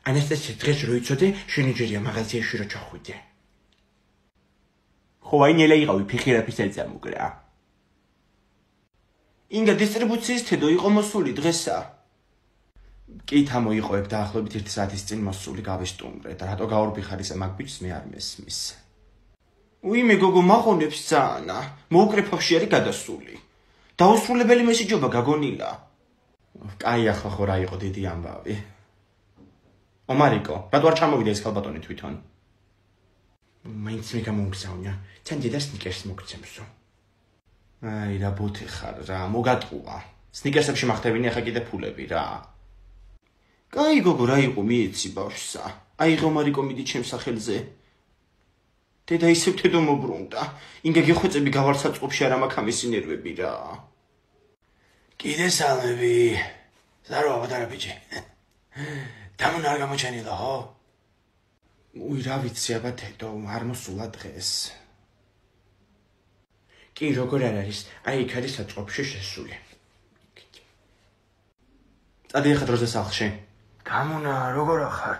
ანასტასია დღეს რო იცოდე, შენი ჯერია მაღაზიაში რო ჩახვიდე. ხო, აი ნელა იყავი ფიხირაფის ეწამოგრა. ინგა დისტრიბუციის თედო იყო მოსული დღესა. კი თამოიყვებ დაახლოებით 1 საათის წინ მოსული გავისტუმრე და რატო გაურბიხარ ისე მაგ ბიჭს მე არ მესმის. უიმე გოგო მაღონებს ძაანა, მოუკრეფავში არის გადასული. დაუსრულებელი მესიჯობა გაგონილა. კაი ახლა ხო რა იყო დიდი ამბავი. ომარიკო, რატო არ ჩამოვიდა ეს ქალბატონი თვითონ? მაინც მე გამომგზავნია, თან დედა სნიკერს მოგცემსო. აი რა ბოთი ხარ რა, მოგატყუა. სნიკერსებში მახტევინი ახლა კიდე ფულები რა. კაი გოგო რა იყო მიეცი ბავშვსა. აიღო მარიკო მიდი ჩემს სახელზე. დედა ისევ თედო მობრუნდა. ინგა გეხვეწები გავარსაწყობში არ მაქვს ამისი ნერვები რა. კიდე სალმები. ზაროა ბატონო ბიჭი. დამონა არ გამოჩენილა ხო? უი რა ვიცი აბა თედო არ მოსულა დღეს. კი როგორ არ არის, აი იქ არის საწყობში შესული. წადი ახლა დროზე სახლში. დამონა როგორ ახარ?